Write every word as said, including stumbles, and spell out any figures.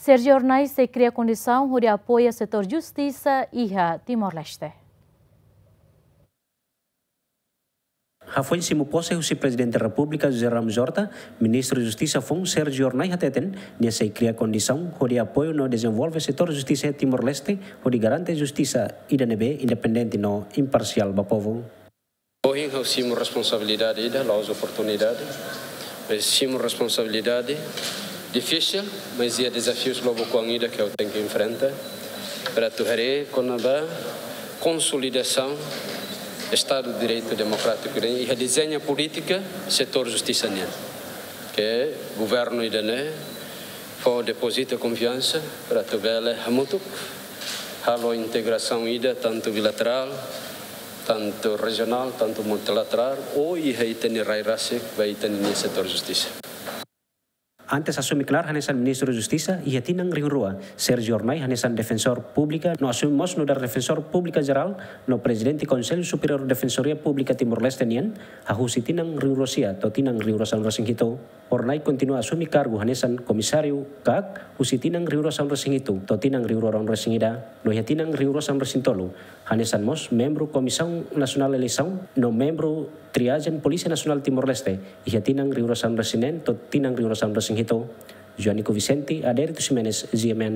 Sérgio Hornai sei kria kondisaun hodi apoia setór justisa iha Timor-Leste. Hafoin simu pose husi Prezidente Repúblika José Ramos Horta, Ministru Justisa foun Sérgio Hornai hateten, nia sei kria kondisaun hodi apoiu no dezenvolve setór justisa iha Timor-Leste, hodi garante justisa ida ne'ebé independente no imparsiál ba povu. Ohin ha'u simu responsabilidade ida, la'ós oportunidade, mas simu responsabilidade difisil, mas iha dezafius lobo kuang ida ke ha'u tenke enfrenta, para atu haree kona-ba konsolidasaun Estadu Direitu Demokrátiku ida-ne'e, iha dezeña polítika setór justisa nian. Ke governu ida-ne'e fó depozita konfiansa para atu bele hamutuk halo integrasaun ida, tantu bilaterál, tantu rejionál, tantu multilaterál, ou iha ita-nia rai rasik ba ita-nia setór justisa. Antes asume knaar hanesan Ministru Justisa iha tinan rihun rua, Sérgio Hornai hanesan Defensór Públika no asume mós nu'udar Defensór Públika Jerál no Prezidente Konsellu Superiór Defensoria Públika Timor-Leste nian, hahú husi tinan rihun rua sia to'o tinan rihun rua sanulu resin hitu. Hornai kontinua asume kargu hanesan Komisáriu KAK husi tinan rihun rua sanulu resin hitu to'o tinan rihun rua ruanulu resin ida, no iha tinan rihun rua sanulu resin tolu hanesan mós membru Komisaun Nasionál Eleisaun no membru Triajen Polísia Nasionál Timor-Leste iha tinan rihun rua sanulu resin neen to'o tinan rihun rua sanulu resin hitu. Joanico Vicente, Adérito Ximenes, G M N.